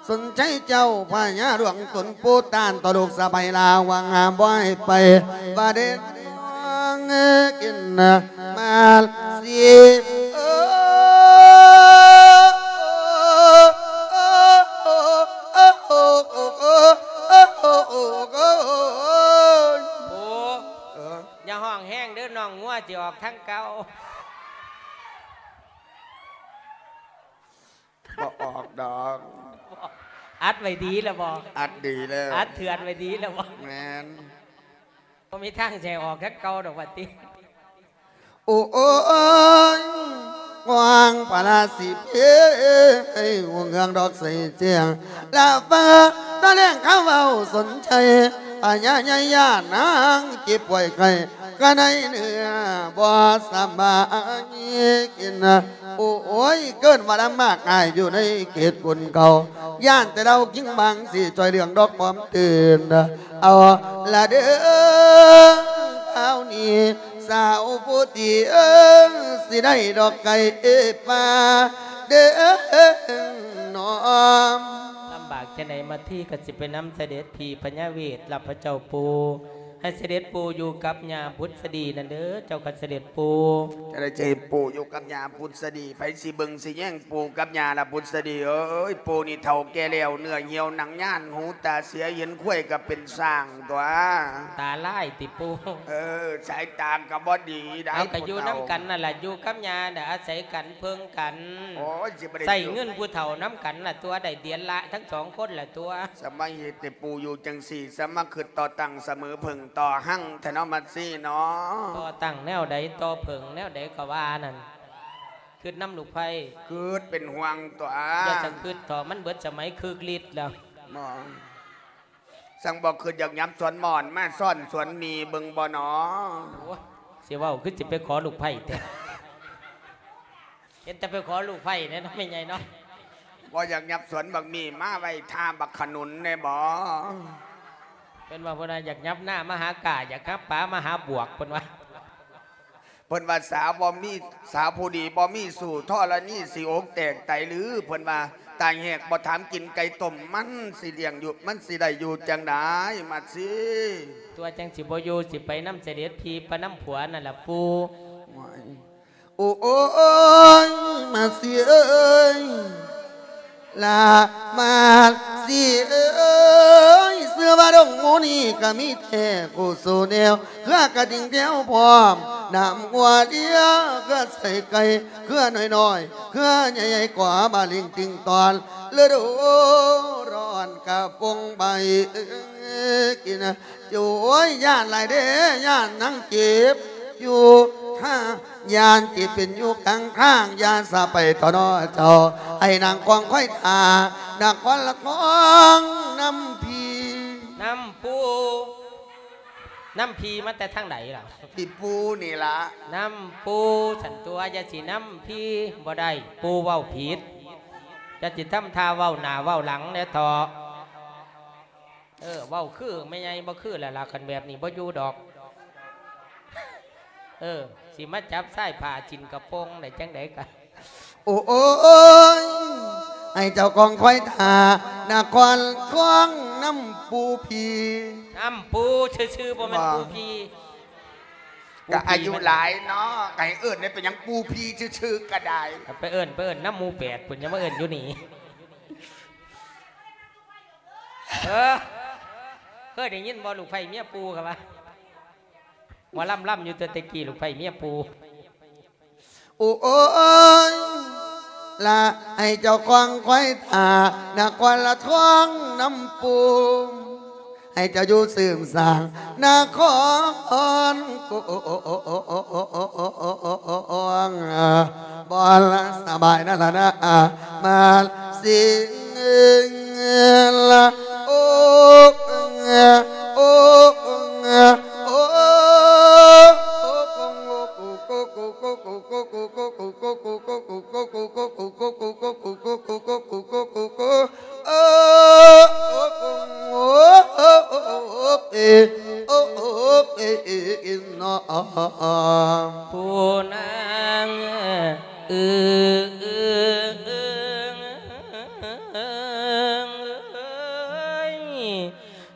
ສົນໃຈເຈົ້າພະຍາຫຼວງຕົນປູຕານ ຕໍ່ລູກສະໃພ້ລາວວ່າງາມບໍ່ໃຫ້ໄປ ວ່າເດນມອງກິນມາລຊີ. ໂອ້ ເອີ ຢ່າຮ້ອງແຮງເດີ ນ້ອງງົວຊິອອກທາງເກົ່າ. ບໍ່ອອກດອກ. ອັດໄວ້ດີແລ້ວບໍ່? ອັດດີແລ້ວ. ອັດເຖື່ອນໄວ້ດີແລ້ວບໍ່? ແມ່ນ. ບໍ່ມີທາງຊິໃຫ້ອອກຄືເກົ່າດອກວ່າຕິ. ໂອ້ຍ ຫວ່າງພະລາສິເພ ຫູເຮືອງດອກໃສແຈ້ງ ລະເຟີຕາແລງຄຳເວົ້າສົນໃຈ ພະຍາໃຫຍ່ຍານາງເຈັບປ່ວຍໄຂ້ ກະໃນເນື້ອບໍ່ສະບາຍກິນ. ໂອ້ຍ ເກີດວ່າລຳບາກອາຍຢູ່ໃນເຂດຄົນເກົ່າ ຢ້ານແຕ່ລາວຄິງບາງຊິຊ່ອຍເລື່ອງດອກຄວາມຕື່ນ. ເອົາລະເດີ ຄາວນີ້ສາວຜູ້ຕີເອີຍ ຊິໄດ້ດອກໄກ່ປ່າເດີນອມ. ລຳບາກຈັ່ງໃດມາທີກໍຊິໄປນຳສະເດັດພີ່ພະຍາເວດ ລະພະເຈົ້າປູ່ ໃຫ້ສະເດັດປູ່ຢູ່ກັບຍ່າບຸດສະດີນັ້ນເດີ ເຈົ້າຂ້າສະເດັດປູ່. ຈະໄດ້ໃຫ້ປູ່ຢູ່ກັບຍ່າບຸດສະດີ ໃຜຊິເບິ່ງຊິແຍງປູ່ກັບຍ່າລະບຸດສະດີເອີຍ. ປູ່ນີ້ເຖົ້າແກ່ແລ້ວ ເນື້ອຫ່ຽວໜັງຍານ ຫູຕາເສຍ ເຫັນຄວາຍກໍເປັນຊ້າງຕົວະ. ຕາລາຍຕິປູ່? ເອີ ສາຍຕາກໍບໍ່ດີໄດ໋. ເອົາ ກໍຢູ່ນຳກັນນັ້ນລະ ຢູ່ກັບຍ່ານະ ອາໄສກັນເພິ່ງກັນ. ໂອ້ຍ ຊິບໍ່ໄດ້ ໃຊ້ເງິນຜູ້ເຖົ້ານຳກັນລະຕົວະ ໄດ້ເດືອນລະທັງສອງຄົນລະຕົວະ. ສະມາເຮັດໃຫ້ປູ່ຢູ່ຈັ່ງຊີ້ ສະມາຄຶດຕໍ່ຕັ້ງສະເໝີເພິ່ງຕໍ່ຮັ່ງແທ້ເນາະ ມັດຊີເນາະ. ຕໍ່ຕັ້ງແນວໃດ ຕໍ່ເພິ່ງແນວໃດກໍວ່ານັ້ນ ຄຶດນຳລູກໃພ້ ຄຶດເປັນຫ່ວງຕົວະ. ຢ່າສະຄຶດເຖາະ ມັນເບິດສະໄໝຄຶກລິດແລ້ວ. ບໍ່ ຈັ່ງບໍ່ຄຶດຢາກຫຍັບສວນໝອນ ມາຊ້ອນສວນໝີ່ເບິ່ງບໍ່ໜໍ? ໂອ້ຍ ຊິເວົ້າຄືຊິໄປຂໍລູກໃພ້ແທ້ ເຫັນແຕ່ໄປຂໍລູກໃພ້ແດ່ເນາະ ແມ່ໃຫຍ່ເນາະ. ບໍ່ຢາກຫຍັບສວນບັກໝີ່ ມາໄວ້ຖ້າບັກຂະໜຸນແດ່ບໍ່? ເພິ່ນວ່າ ເພິ່ນວ່າຢາກຫຍັບນາມາຫາກ້າ ຢາກຫາປາມາຫາບວກ ເພິ່ນວ່າ. ເພິ່ນວ່າ ສາວບໍ່ມີ ສາວຜູ້ດີບໍ່ມີຊູ້ ທໍລະນີຊິອົກແຕກໄຕຫຼື? ເພິ່ນວ່າ ຕາຍແຫກບໍ່ຖາມກິນໄກ່ຕົ້ມ ມັນຊິລ້ຽງຢູ່ ມັນຊິໄດ້ຢູ່ຈັ່ງໃດ ມັດຊີ? ຕົວະຈັ່ງຊິບໍ່ຢູ່ ຊິໄປນຳສະເດັດພີ່ ໄປນຳຜົວນັ້ນລະປູ່. ໂອ້ຍ ໂອ້ຍ ມາຊີເອີຍ ລະມາຊີເອີຍ ເຊື່ອວ່າດົງໝູ່ນີ້ກະມີແທ້ຄູ່ສູ່ແນວ ເຄືອກະຕິ່ງແຖວພ້ອມ ນ້ຳງົວເດຍ ເຄືອໄສ້ໄກ່ ເຄືອນ້ອຍໆ ເຄືອໃຫຍ່ໆ ກໍມາລິງຕິ່ງຕອນ ລະດູຮ້ອນກະປົງໃບກິນ. ໂອ້ຍ ຢ້ານຫຼາຍເດ້ ຢ້ານນາງເຈັບຢູ່ ຢ້ານຊິເປັນຢູ່ກາງທາງ ຢ່າສາໄປເຖາະເນາະເຈົ້າ ໃຫ້ນາງຄອງຄອຍຖ້າ ນະຄອນລະຄອງນຳພີ່ ນຳປູ່. ນຳພີ່ມາແຕ່ທາງໃດລະ? ພີ່ປູ່ນີ້ລະ ນຳປູ່. ສັນຕົວະ ຢ່າຊິນຳພີ່ບໍ່ໄດ້ ປູ່ເວົ້າຜິດ ຢ່າຊິທຳທ່າເວົ້າໜ້າເວົ້າຫຼັງແດ່ເຖາະ. ເອີ ເວົ້າຄືແມ່ໃຫຍ່ ບໍ່ຄືແລ້ວລະ ຄັນແບບນີ້ບໍ່ຢູ່ດອກ. ເອີ ຊິມາຈັບຊາຍຜ້າຊິ້ນກະໂປງໄດ້ຈັ່ງໃດກະ. ໂອ້ຍ ໃຫ້ເຈົ້າຄອງຄອຍຖ້າ ນະຄອນຄອງນຳປູ່ພີ່ ນຳປູ່ຊື່ໆ ບໍ່ແມ່ນ ບໍ່ ປູ່ພີ່. ກະອາຍຸຫຼາຍເນາະ ກະໃຫ້ເອີ້ນໄດ້ ເປັນຫຍັງປູ່ພີ່ຊື່ໆ ກະໄດ້. ໄປເອີ້ນ ໄປເອີ້ນນຳໝູ່ແປດພຸ້ນ ຢ່າມາເອີ້ນຢູ່ນີ້. ເອີ ເຄີຍໄດ້ຍິນບໍ່ ລູກໃພ້ເມຍປູ່ ເຂົາວ່າ ໝໍລຳລຳຢູ່ແຕ່ແຕ່ກີ້ ລູກໃພ້ເມຍປູ່. ໂອ້ຍ ລະໃຫ້ເຈົ້າຄອງຄອຍຖ້າ ນະຄອນລະທອງນຳປູ່ ໃຫ້ເຈົ້າຢູ່ສືບສ້າງນະຄອນ ກວງ ບ່ອນສະບາຍນັ້ນລະນະ ມາຊິງ ລະ ໂອ ໂອ ໂອ ໂອ ເອີ ໂອ ເອ ໂອ ເນາະ ຜູ້ນາງເອີ.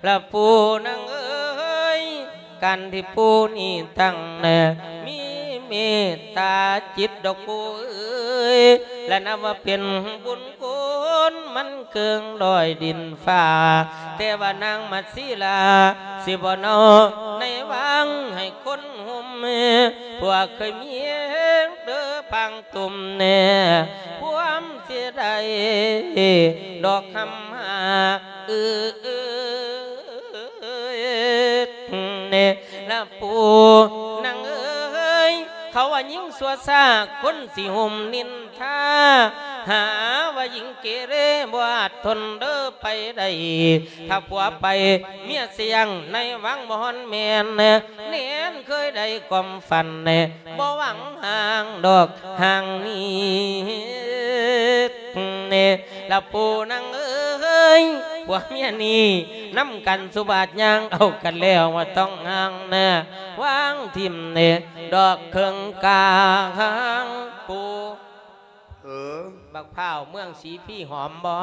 ລະປູ່ນາງເອີຍ ການທີ່ປູ່ນີ້ຕັ້ງນະ ມີເມດຕາຈິດດອກປູ່ເອີຍ ລະນັບວ່າເປັນບຸນຄຸນ ມັນເກີນລອຍດິນຟ້າ ແຕ່ວ່ານາງມາຊີລາ ຊິບໍ່ເນົາໃນວັງໃຫ້ຄົນ ໂຮມ ພວກເຄີຍມີແຮງເດີພັງຕຸ່ມແນ່ ຄວາມເສຍດາຍດອກຄຳຫາ ເອີ ເອີ ເອີ ເອີ ເອີ ລະປູ່ນາງເອີຍ ເຂົາວ່າຍິງຊົ່ວຊ້າ ຄົນຊິໂຮມນິນທາ ຫາວ່າຍິງເກເຣ ບໍ່ອາດທົນເດີໄປໄດ້ ຖ້າຜົວໄປເມຍຊິຍັງ ໃນວັງບໍ່ຮອນແມ່ນ ແໜ້ນເຄີຍໄດ້ຄວາມຝັນ ບໍ່ຫວັງຫ່າງດອກຫ່າງນີ້ ລະປູ່ນາງເອີຍ ຜົວເມຍນີ້ນຳກັນສຸບາດຍ່າງເອົາກັນແລ້ວ ບໍ່ຕ້ອງຫ່າງນະ ວາງຖິ້ມເນດອກເຄິ່ງກາງ ປູ່ ເອີ ບັກພ້າວເມືອງສີພີຫອມບໍ່?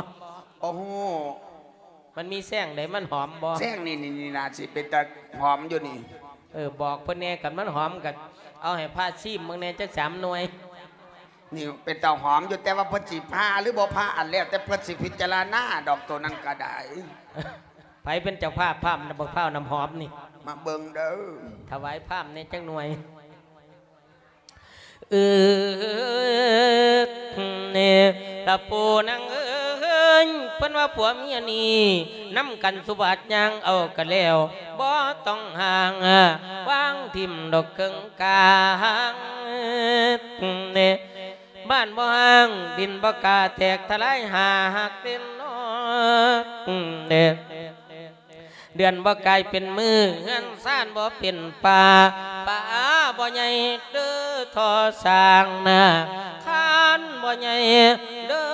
ໂອ້ໂຫ ມັນມີແຊງໃດມັນຫອມບໍ່? ແຊງນີ້ ນີ້ ນີ້ນາຊິເປັນຕາຫອມຢູ່ນີ້. ເອີ ບອກເພິ່ນແດ່ ຄັນມັນຫອມກໍເອົາໃຫ້ພະຊີມເບິ່ງແດ່ຈັກສາມໜ່ວຍ. ນີ້ເປັນຕາຫອມຢູ່ ແຕ່ວ່າເພິ່ນຊິຜ່າຫຼືບໍ່ຜ່າ ອັນແລ້ວແຕ່ເພິ່ນຊິພິຈາລະນາດອກ ໂຕນັ້ນກໍໄດ້. ໃຜເປັນເຈົ້າພາບພາມ ບັກພ້າວນ້ຳຫອມນີ້? ມາເບິ່ງເດີ ຖວາຍພາມແດ່ຈັກໜ່ວຍ. ເອີ ເອີ ລະປູ່ນາງເອີຍ ເພິ່ນວ່າຜົວເມຍນີ້ນຳກັນສຸບາດຍ່າງເອົາກັນແລ້ວ ບໍ່ຕ້ອງຫ່າງ ວາງຖິ້ມດອກເຄິ່ງກາງ ບ້ານບໍ່ຮ້າງ ດິນບໍ່ກາແຕກທະລາຍ ຫາຮັກເດັ່ນນອກ ເດືອນບໍ່ກາຍເປັນມື້ ເຮືອນຊານບໍ່ເປັນປ່າ ປ່າບໍ່ໃຫຍ່ເດີທໍ່ສ້າງນາ ຄານບໍ່ໃຫຍ່ເດີ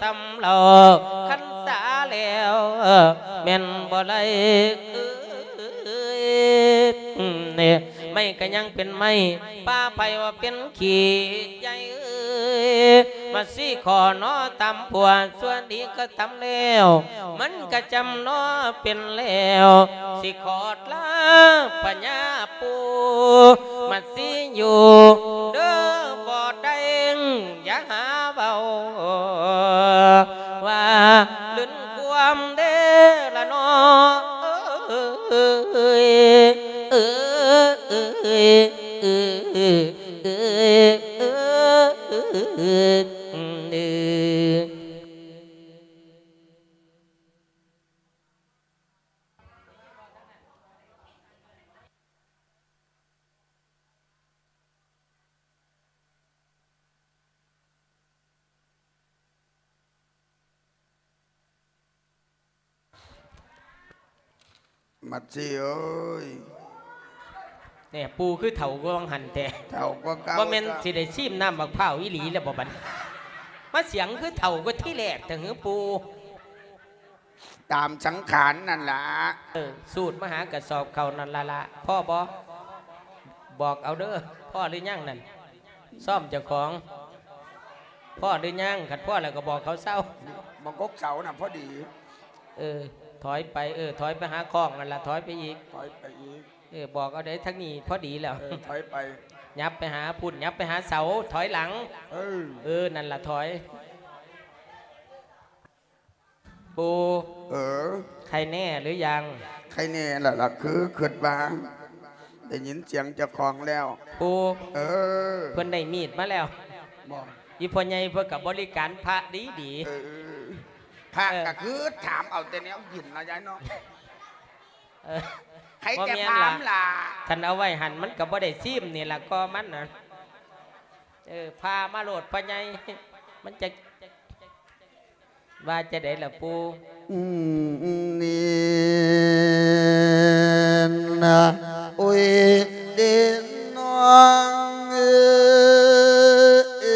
ສຳເລົາ ຄັນສາແລ້ວແມ່ນບໍ່ໄຫຼ ເອີຍ ໄມ້ກະຍັງເປັນໄມ້ ປ່າໄຜ່ວ່າເປັນຂີ້ໃຫຍ່ເອີຍ ມາຊີ້ຂໍໜໍຕຳຜົວ ຊົ່ວດີກໍຕຳແລ້ວ ມັນກະຈຳໜໍເປັນແລ້ວ ຊິຂໍລາພະຍາປູ່ ມາຊີ້ຢູ່ເດີບໍ່ໄດ້ ຢ່າຫາເວົ້າ ວ່າລຶນຄວາມເດລະນໍ ເອີຍ ເອີຍ ເອີຍ ເອີຍ ເອີຍ ເອີຍ ເອີຍ ເອີຍ. ມັດຊີເອີຍ ແນ່ ປູ່ຄືເຖົ້າກວ່າຫວ່າງຫັ້ນແທ້ ເຖົ້າກວ່າເກົ່າ ບໍ່ແມ່ນ ເຈົ້າ ຊິໄດ້ຊີມນ້ຳບັກພ້າວອີ່ຫຼີແລ້ວບໍ່ບັດນີ້ ມາສຽງຄືເຖົ້າກວ່າທີແລກແທ້ຫື ປູ່? ຕາມສັງຂານນັ້ນລະ ເອີ ສູດມາຫາກະສອບເຂົ້ານັ້ນລະລະ ພໍບໍ່? ບອກເອົາເດີ ພໍຫຼືຍັງນັ້ນ? ຊ້ອມເຈົ້າຂອງ ພໍຫຼືຍັງ? ຄັນພໍແລ້ວກໍບອກເຂົາເຊົາ ບັກກົກເສົານະພໍດີ ເອີ ຖອຍໄປ ເອີ ຖອຍໄປຫາຄ້ອງນັ້ນລະ ຖອຍໄປອີກ ຖອຍໄປອີກ ເອີ ບອກເອົາເດີ ທາງນີ້ພໍດີແລ້ວ ເອີ ຖອຍໄປ ຫຍັບໄປຫາພຸ້ນ ຫຍັບໄປຫາເສົາ ຖອຍຫຼັງ ເອີ ເອີ ນັ້ນລະ ຖອຍ. ປູ່ ເອີ ໄຄແນ່ຫຼືຍັງ? ໄຄແນ່ແລ້ວລະ ຄືຄິດວ່າໄດ້ຍິນສຽງເຈົ້າຂອງແລ້ວ ປູ່ ເອີ ເພິ່ນໄດ້ມີດມາແລ້ວ ບໍ່ ອີ່ພໍ່ໃຫຍ່ເພິ່ນກໍບໍລິການພະດີໆ ເອີ ພະ ເອີ ກໍຄືຖາມເອົາແຕ່ແນວກິນເນາະ ຍາຍເນາະ ເອີ ໃຄແຕ່ພາມລະ ບໍ່ແມ່ນລະ ຄັນເອົາໄວ້ຫັ້ນມັນກໍບໍ່ໄດ້ຊີມນີ້ລະ ກໍມັນນະ ເອີ ພາມາໂລດພໍ່ໃຫຍ່ ມັນຈະ ວ່າຈັ່ງໃດລະປູ່? ອືມ ນີ້ນະ ໂອ້ຍ ເດນ້ອງເອີຍ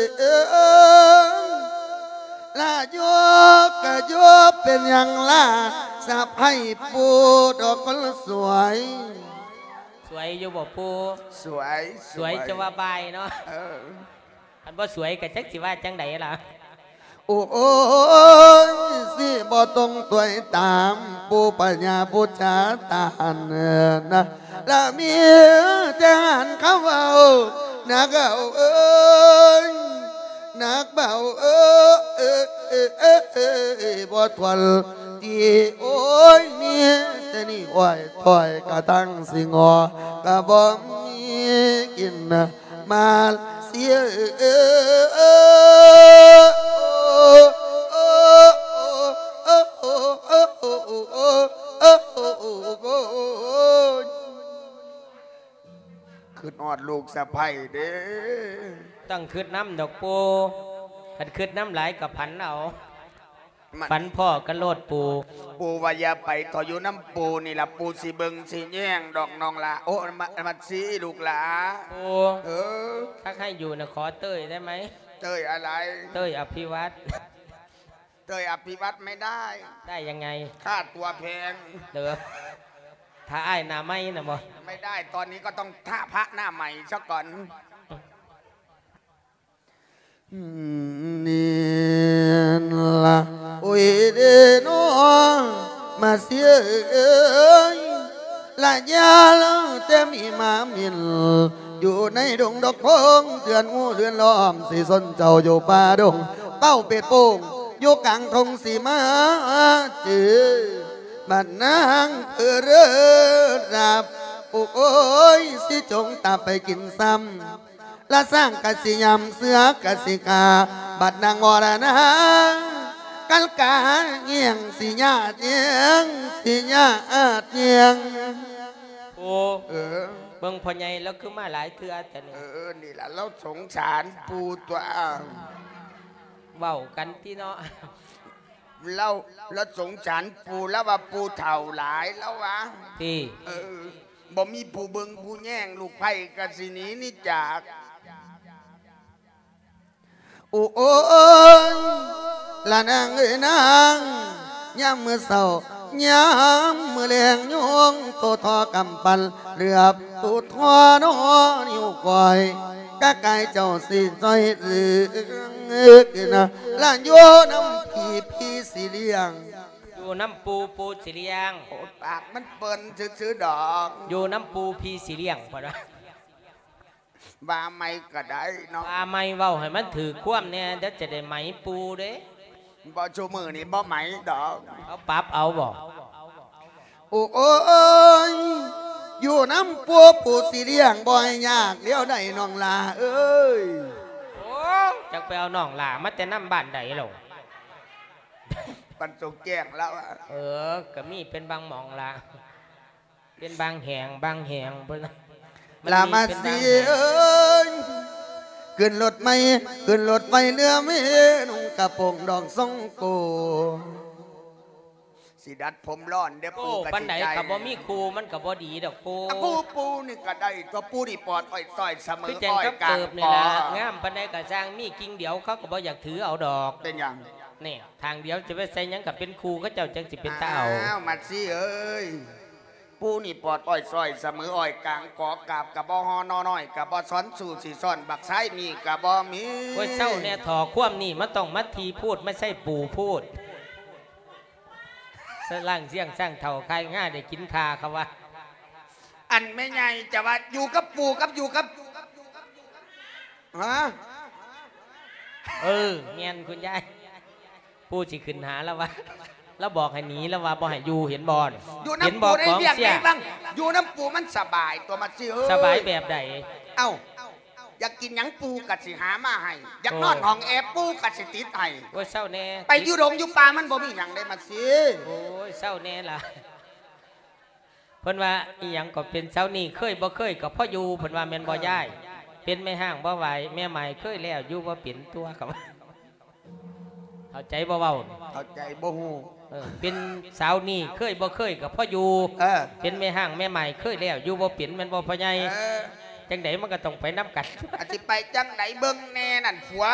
ລະຢູ່ກະຢູ່ ເປັນຫຍັງລະ ສະໃພ້ປູ່ດອກຄົນສວຍ? ສວຍຢູ່ບໍ່ປູ່? ສວຍ ສວຍ ສວຍຈະວ່າບາຍເນາະ ເອີ ຄັນບໍ່ສວຍກໍຈັກຊິວ່າຈັ່ງໃດລະ. ໂອ້ຍ ຊິບໍ່ຕ້ອງຕວຍຕາມ ປູພະຍາຜູ້ຈາຕານນະ ລະມີແຕ່ຫັ້ນຄຳເວົ້າ ນັກເອົາເອີຍ ນັກເບົາເອີຍ ບໍ່ທວນ ທີ່ໂອ້ຍ ມີແຕ່ນີ້ອ້ອຍ ຖ້ອຍກະທັງຊິງໍ ກະບໍ່ມີກິນ ມາເສຍ ຄຶດຮອດລູກສະໃພ້ເດ້. ຕ້ອງຄຶດນຳດອກປູ່ ຄັນຄຶດນຳຫຼາຍກະຝັນເອົາ. ມັນ ຝັນພໍ້ກັນໂລດປູ່. ປູ່ວ່າຢ່າໄປ ຂໍຢູ່ນຳປູ່ນີ້ລະ ປູ່ຊິເບິ່ງຊິແຍງດອກນ້ອງຫຼ້າ. ໂອ້ ມາ ມາຊິລູກຫຼ້າ. ປູ່ ເອີ ຖ້າໃຫ້ຢູ່ນະ ຂໍເຕີຍໄດ້ໄໝ? ເຕີຍອະໄລ? ເຕີຍອະພິວັດ. ເຕີຍອະພິວັດໄມ່ໄດ້. ໄດ້ຍັງໄງ? ຄ່າຕົວແພງ. ເດີ ຖ້າອ້າຍໜ້າໃໝ່ນະບໍ່? ໄມ່ໄດ້ ຕອນນີ້ກໍຕ້ອງຖ້າພະໜ້າໃໝ່ຊະກ່ອນ. ນີ້ລະ ໂອ້ຍເດນໍ ມາເສຍເອີຍ ລະຢ່າເລີແຕ່ມີມາມິນ ຢູ່ໃນດົງດອກໂພງ ເຮືອນຫູເຮືອນລ້ອມ ຊິຊົນເຈົ້າຢູ່ປ່າດົງ ເປົ້າເປັດໂປ່ງ ຢູ່ກາງທົ່ງ ຊິມາເຈີ ບັດນາງເອີເລີດາບ ໂອ້ຍ ຊິຈົງຕາໄປກິນຊ້ຳ. ລະຊ້າງກະຊິຍຳ ເສືອກະຊິຂ້າ ບັດນາງວໍລະນາ ກັນກາແຍ່ງ ຊິຍາດແຍ່ງ ຊິຍາດແຍ່ງ. ໂອ້ ເອີ ເບິ່ງພໍ່ໃຫຍ່ລາວຄືມາຫຼາຍເທື່ອແທ້ນີ້. ເອີ ນີ້ລະລາວສົງສານປູ່ຕົວະ. ເວົ້າກັນຕິເນາະ. ລາວ ລາວສົງສານປູ່ ລາວວ່າປູ່ເຖົ້າຫຼາຍ ລາວວ່າ ຕິ ເອີ ບໍ່ມີຜູ້ເບິ່ງຜູ້ແຍງ ລູກໃພ້ກະຊິໜີໜີຈາກ. ໂອ້ຍ ລະນາງເອີຍນາງ ຍາມມື້ເຊົ້າ ຍາມມື້ແລງ ຍຸງໂຕທໍ່ກຳປັ່ນ ເຫຼືອບໂຕທໍ່ນໍ ນິ້ວກ້ອຍ ກະກາຍເຈົ້າຊິຊ່ອຍເຫຼືອນະ ລະຢູ່ນຳພີ່ ພີ່ຊິລ້ຽງ. ຢູ່ນຳປູ່ ປູ່ຊິລ້ຽງ. ໂອ້ ປາກມັນເປິ່ນຊື່ໆດອກ. ຢູ່ນຳປູ່ ພີ່ຊິລ້ຽງ ເພິ່ນວ່າ. ວ່າໃໝ່ກະໄດ້ເນາະ. ວ່າໃໝ່ ເວົ້າໃຫ້ມັນຖືກຄວາມແດ່ ດຽວຈະໄດ້ໄໝປູ່ເດ້. ບໍ່ ຊຸມື້ນີ້ບໍ່ໄໝດອກ. ເຂົາປັບເອົາບໍ່? ໂອ້ຍ ຢູ່ນຳປູ່ ປູ່ຊິລ້ຽງ ບໍ່ໃຫ້ຍາກດຽວໃດນ້ອງຫຼ້າເອີຍ. ໂອ້ ຈັກໄປເອົານ້ອງຫຼ້າມາແຕ່ນຳບ້ານໃດລະ? ປັນໂຕແກ້ງລະວ່າ. ເອີ ກະມີເປັນບາງໝ່ອງລະ ເປັນບາງແຫ່ງ ບາງແຫ່ງພຸ້ນລະ. ລະມາຊິເອີຍ ຂຶ້ນລົດໃໝ່ ຂຶ້ນລົດໄຟເຫຼືອເມ ນຸ່ງກະໂປງດອກຊົງໂກ ຊິດັດຜົມຫຼອນເດີ້. ໂອ້ ປູ່ກະ ປານໃດ ຊິໃຈ ກະບໍ່ມີຄູ່ ມັນກະບໍ່ດີດອກປູ່. ອາ ປູ່ ປູ່ນີ້ກະໄດ້ຕົວະ ປູ່ນີ້ປອດອ້ອຍຊ້ອຍສະເໝີ ຄືຈັ່ງກັບເກີບນີ້ລະ ງາມປານໃດກະຊ່າງ ມີກິ່ງດຽວເຂົາກະບໍ່ຢາກຖືເອົາດອກ. ເປັນຫຍັງ? ນີ້ ທາງດຽວຈະໄປໃສ່ຫຍັງກະເປັນຄູ່ ເຂົາເຈົ້າຈັ່ງຊິເປັນຕາເອົາ. ອ້າວ ມາຊິເອີຍ ປູ່ນີ້ປອດອ້ອຍຊ້ອຍສະເໝີ ອ້ອຍກາງ ກໍກາບກະບໍ່ຫໍ່ ໜໍ່ນ້ອຍກະບໍ່ຊ້ອນ ສູ້ຊິຊ້ອນບັກຊາຍນີ້ກະບໍ່ມີ. ໂອ້ຍ ເຊົາແດ່ ທໍ່ຄວາມນີ້ມັນຕ້ອງມາທີ່ພູດ ມາໃສ່ປູ່ພູດ. ສະລ່າງຊຽງຊ້າງເຖົ້າ ຄາຍງາໄດ້ກິນຂ້າ ເຂົາວ່າ. ອັນແມ່ໃຫຍ່ຈະວ່າຢູ່ກັບປູ່ກັບຢູ່ກັບ ຮະ? ເອີ ແມ່ນຄຸນຍາຍ ປູ່ຊິຂຶ້ນຫາລາວວ່າ ລາວບອກໃຫ້ໜີ ລາວວ່າບໍ່ໃຫ້ຢູ່ ເຫັນບໍ່? ຢູ່ນຳປູ່ໄດ້ວຽກໄດ້ວັງ ຢູ່ນຳປູ່ມັນສະບາຍຕົວະ ມາຊິເອີຍ. ສະບາຍແບບໃດ? ເອົ້າ ຢາກກິນຫຍັງປູ່ກະຊິຫາມາໃຫ້ ຢາກນອນຫ້ອງແອປູ່ກະຊິຕິດໃຫ້. ໂອ້ຍ ເຊົາແດ່ ໄປຢູ່ດົງຢູ່ປ່າມັນບໍ່ມີຫຍັງເດ້ ມາຊິ. ໂອ້ຍ ເຊົາແດ່ລະ. ເພິ່ນວ່າອີ່ຫຍັງກໍເປັນເຊົານີ້ ເຄີຍບໍ່ເຄີຍກໍພໍຢູ່ ເພິ່ນວ່າແມ່ນບໍ່ຍາຍ? ເອີ ເປັນແມ່ຮ້າງບໍ່ໄຫວ ແມ່ໝ້າຍເຄີຍແລ້ວ ຢູ່ບໍ່ເປັນຕົວະ ເຂົາວ່າ. ເຂົ້າໃຈບໍ່ເວົ້າ? ເຂົ້າໃຈບໍ່ຮູ້. ເອີ ເປັນສາວນີ້ເຄີຍບໍ່ເຄີຍກໍພໍຢູ່. ເອີ ເປັນແມ່ຮ້າງແມ່ໝ້າຍເຄີຍແລ້ວ ຢູ່ບໍ່ເປັນແມ່ນບໍ່ພໍ່ໃຫຍ່? ເອີ ຈັ່ງໃດມັນກໍຕ້ອງໄປນຳກັນ. ອາ ຊິໄປຈັ່ງໃດເບິ່ງແນ່ນັ້ນ ຜົວ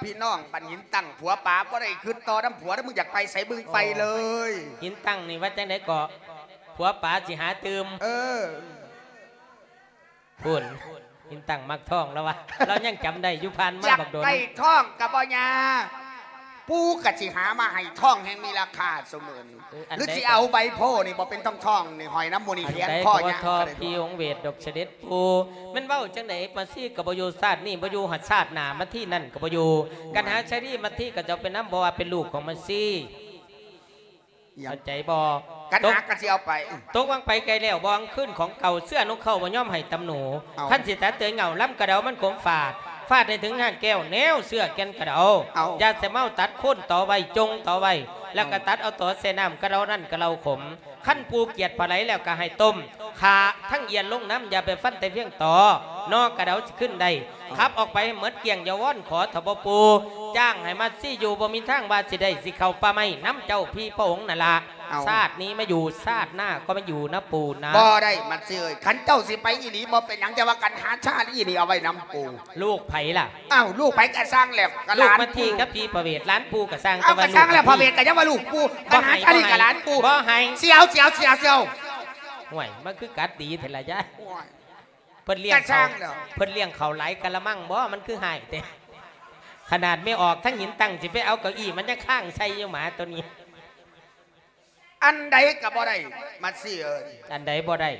ພີ່ນ້ອງບ້ານຫີນຕັ້ງ ຜົວປາບໍ່ໄດ້ຄຶດຕໍ່ນຳຜົວເດີ້ ມຶງຢາກໄປໃສມຶງໄປເລີຍ. ໂອ້ ຫີນຕັ້ງນີ້ວ່າຈັ່ງໃດກໍ ຜົວປາຊິຫາຕື່ມ. ເອີ ພຸ້ນ ຫີນຕັ້ງມັກທ້ອງລາວວ່າ ລາວຍັງຈຳໄດ້ຢູ່ ຜ່ານມາບັກດົນ. ຢາກໄດ້ທ້ອງກະບໍ່ຍາກ ປູ່ກໍຊິຫາມາໃຫ້ ທອງແຮ່ງມີລາຄາຊຸມື້ນີ້. ເອີ ອັນໃດ ຫຼືຊິເອົາໃບໂພນີ້ບໍ່ເປັນທອງໆ ນີ້ຫ້ອຍນຳໝູ່ນີ້ ອັນໃດ ແຂນຄໍ ກໍວ່າ ຍາງ ທອງ ກໍໄດ້ ພີ່ອົງເວດດອກສະເດັດປູ່. ແມ່ນເວົ້າຈັ່ງໃດ ມາຊີກໍບໍ່ຢູ່ຊາດນີ້ບໍ່ຢູ່ ຮອດຊາດໜ້າມາທີນັ້ນກໍບໍ່ຢູ່. ໂອ້ຍ ກັນຫາຊາລີມາທີກໍຈະເອົາໄປນຳ ເພາະວ່າເປັນລູກຂອງມາຊີ. ຫຍັງ? ເຂົ້າໃຈບໍ່? ກັນຫາກໍຊິເອົາໄປ. ຕົກ ຕົກວາງໄປໄກແລ້ວ ບໍ່ຫວັງຄືນຂອງເກົ່າ ເຊື້ອນົກເຂົາບໍ່ຍອມໃຫ້ຕຳໜູ. ເອົ້າ ຄັນຊິຕັດເຕີຍເຫງົ້າ ລຳກະເດົາມັນຂົງຟາດ ຟາດໃຫ້ເຖິງຮາກແກ້ວ ແນວເຊື້ອແກ່ນກະເດົາ. ເອົ້າ ຢ່າສະເມົາຕັດໂຄນຕໍໄວ້ ຈົ່ງຕໍໄວ້ ແລ້ວກະ ເອົ້າ ຕັດເອົາຕໍໃສ່ນ້ຳ ກະເດົານັ້ນກະເດົາຂົມ. ຄັນປູ່ກຽດປາໄຫຼແລ້ວກະໃຫ້ຕົ້ມ ຂ້າທັງອຽນລົງນຳ ຢ່າໄປຟັນແຕ່ພຽງຕໍ ໜໍ່ກະເດົາຊິຂຶ້ນໄດ້. ເອົ້າ ຂັບອອກໄປໃຫ້ໝົດກ້ຽງ ຢ່າວອນຂໍເຖາະພໍ່ປູ່ ຈ້າງໃຫ້ມາຊີຢູ່ ບໍ່ມີທາງວ່າຊິໄດ້ ຊິເຂົ້າປ່າໄມ້ນຳເຈົ້າພີ່ພະອົງນັ້ນລະ. ເອົ້າ ຊາດນີ້ມາຢູ່ ຊາດໜ້າກໍມາຢູ່ນະປູ່ນະ. ບໍ່ໄດ້ ມາຊີເອີຍ ຄັນເຈົ້າຊິໄປອີ່ຫຼີບໍ່ເປັນຫຍັງ ແຕ່ວ່າກັນຫາຊາລີນີ້ເອົາໄວ້ນຳປູ່. ລູກໃຜລະ? ອ້າວ ລູກໃຜກະຊ່າງແລ້ວ ກະຫຼານ ລູກມາທີກັບພີພະເວດ ຫຼານປູ່ກະຊ່າງ. ເອົາ ແຕ່ວ່າລູກ ກະຊ່າງແລ້ວ ພະເວດກະຍັງວ່າລູກປູ່ ກະຫາຊາລີກະຫຼານປູ່. ບໍ່ໃຫ້ ບໍ່ໃຫ້ ສຽວ ສຽວ ສຽວ ສຽວ. ໂອ້ຍ ມັນຄືກັດດີແທ້ລະຍາຍ. ໂອ້ຍ ເພິ່ນລ້ຽງເຂົາ ກະຊ່າງແລ້ວ ເພິ່ນລ້ຽງເຂົາຫຼາຍກະລະມັງບໍ ມັນຄືຮ້າຍແທ້. ຂະໜາດແມ່ອອກທັງຫີນຕັ້ງ ຊິໄປເອົາເກົ້າอี้ ມັນຍັງຄ້າງໃສ່ຢູ່ ໝາໂຕນີ້. ອັນໃດກໍບໍ່ໄດ້ ມາຊີເອີຍ. ອັນໃດບໍ່ໄດ້?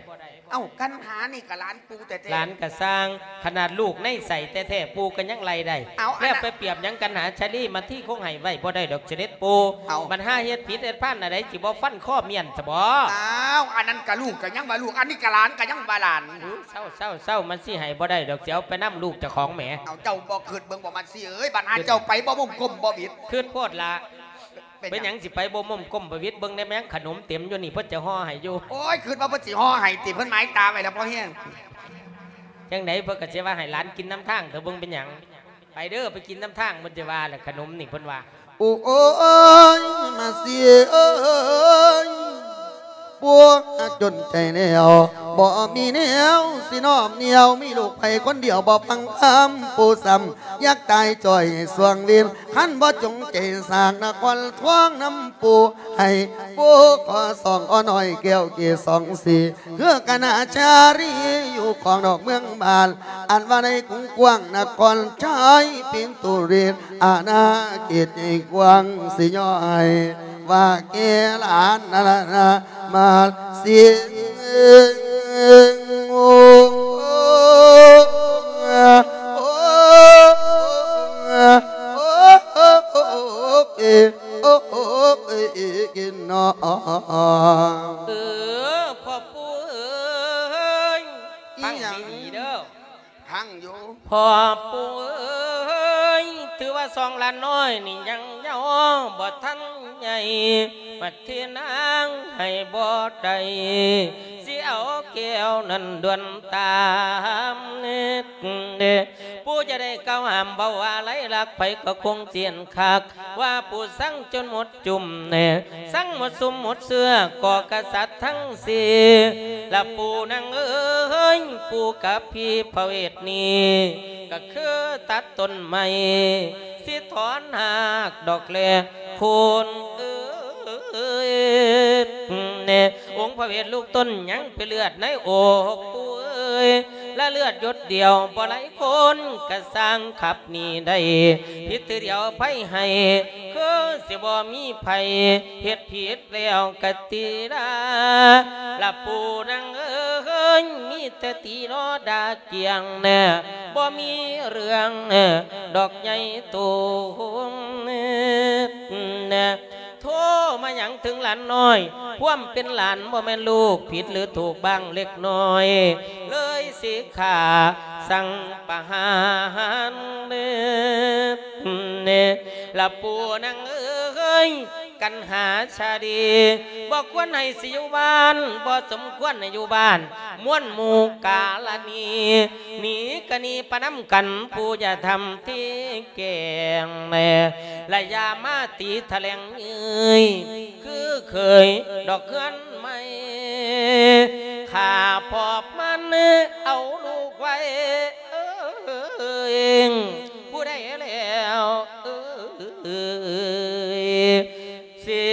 ເອົ້າ ກັນຫານີ້ກໍຫຼານປູ່ແທ້ໆ. ຫຼານກໍຊ່າງ ຂະໜາດລູກໃນໄສ້ແທ້ໆ ປູ່ກໍຍັງໄລ່ໄດ້. ເອົ້າ ແລ້ວ ອັນນັ້ນ ໄປປຽບຫຍັງກັນຫາຊາລີ ມາທີຄົງໃຫ້ໄວ້ບໍ່ໄດ້ດອກສະເດັດປູ່. ເອົ້າ ບັດຫາເຮັດຜິດເຮັດພານອັນໃດ ຊິບໍ່ຟັນຄໍມ້ຽນຊະບໍ? ອ້າວ ອັນນັ້ນກໍລູກກໍຍັງວ່າລູກ ອັນນີ້ກໍຫຼານກໍຍັງວ່າຫຼານ. ເອີ ເຊົາໆໆ ມັນຊິໃຫ້ບໍ່ໄດ້ດອກ ຊິເອົາໄປນຳລູກເຈົ້າຂອງແໝ. ເອົາ ເຈົ້າບໍ່ຄິດເບິ່ງບໍ່ ມາຊີເອີຍ ບັດຫາ ເຈົ້າໄປບໍ່ມຸ້ມກົມບໍ່ຫວິດ ຄິດໂພດລະ. ເປັນຫຍັງ ເປັນຫຍັງຊິໄປບໍ່ມຸ້ມກົມບໍ່ຫວິດ ເບິ່ງແດ່ແມ່ງຂະໜົມເຕັມຢູ່ນີ້ ເພິ່ນຈະຫໍ່ໃຫ້ຢູ່. ໂອ້ຍ ຄິດວ່າເພິ່ນຊິຫໍ່ໃຫ້ຕິ ເພິ່ນໝາຍຕາໄວ້ແລ້ວພໍແຮງ. ຈັ່ງໃດເພິ່ນກໍຊິວ່າໃຫ້ຫຼານກິນນຳທາງເຖາະ ເບິ່ງເປັນຫຍັງ. ໄປເດີ ໄປກິນນຳທາງ ເພິ່ນຈະວ່າແຫຼະ ຂະໜົມນີ້ເພິ່ນວ່າ. ໂອ້ຍ ມາຊີເອີຍ ປົວຈົນໃຈແລ້ວ ບໍ່ມີແນວຊິນ້ອມນຽວ ມີລູກໄຜຄົນດຽວບໍ່ຟັງຄຳ ປູ່ຊ້ຳຢາກຕາຍຈ່ອຍຊ່ວງເວນ ຄັນບໍ່ຈົງໃຈສ້າງນະຄອນທອງນຳປູ່ ໃຫ້ປູ່ຂໍສອງ ອໍນ້ອຍແກ້ວເກສອງສີ ຄືຄະນະຈາຣີຢູ່ຂອງນອກເມືອງບ້ານ ອັນວ່າໃນກຸງກວ້າງນະຄອນໄຊ ເປັນຕຸເຣນ ອານາເຂດໃຫຍ່ກວ້າງ ຊິຍ້ອຍວ່າແກ່ຫຼານນະລະນະ ມາເສຍງໂອ ໂອ ໂອ ໂອ ເອ ໂອ ເອ ເອ ເກ ເນາະ. ເອີ ພໍ່ປູ່ເອີຍ ອີ່ຫຍັງ? ຟັງດີໆເດີ. ຟັງຢູ່. ພໍ່ປູ່ເອີຍ ຖືວ່າສອງຫຼານນ້ອຍນີ້ຍັງເຍົາບໍ່ທັນໃຫຍ່ ມາເທນາງໃຫ້ບໍ່ໄດ້ ຊິເອົາແກ້ວນັ້ນດ່ວນຕາມ. ປູ່ຈະໄດ້ກ່າວຫ້າມເວົ້າວ່າໄລລັກ ໃຜກໍຄົງຈຽນຄັກ ວ່າປູ່ຊັງຈົນໝົດຈຸ້ມ ຊັງໝົດຊຸມໝົດເຊື້ອ ກໍກະສັດທັງສີ່ ລະປູ່ນາງເອີຍ ປູ່ກັບພີພະເວດນີ້ ກໍຄືຕັດຕົ້ນໄມ້ ຊິຖອນຮາກດອກແລໂຄນເອີຍ. ອົງພະເວດລູກຕົນຍັງເປັນເລືອດໃນອົກ ປູ່ເອີຍ ລະເລືອດຢົດດຽວບໍ່ໄຫຼ ຄົນກະຊ່າງຂັບໜີໄດ້ ຜິດເທື່ອດຽວໄພໃຫ້ ຄືຊິບໍ່ມີໃຜເຮັດຜິດແລ້ວກະຕິລາ. ລະປູ່ນາງເອີຍ ມີແຕ່ຕີລໍດ່າກ້ຽງ ບໍ່ມີເລື່ອງດອກໃຫຍ່ໂຕ. ໂທມາຫຍັງເຖິງຫຼານນ້ອຍ ຄວາມເປັນຫຼານບໍ່ແມ່ນລູກ ຜິດຫຼືຖືກບ້າງເລັກນ້ອຍ ເລີຍຊິຂ້າສັ່ງປະຫານ. ລະປູ່ນາງເອີຍ ກັນຫາຊາດີ ບໍ່ຄວນໃຫ້ຊິຢູ່ບ້ານ ບໍ່ສົມຄວນໃຫ້ຢູ່ບ້ານ ມວນໝູ່ກາລະນີ ໜີກະໜີປະນຳກັນ ປູ່ຢ່າທຳທີ່ແກງແລ ລະຢ່າມາຕີຖະແຫຼງເອີຍ ຄືເຄີຍດອກເຮືອນໃໝ່ ຂ້າພອບມັນເອົາລູກໄວ້ ເອີຍ ຜູ້ໃດແລ້ວ ເອີຍ ຊິ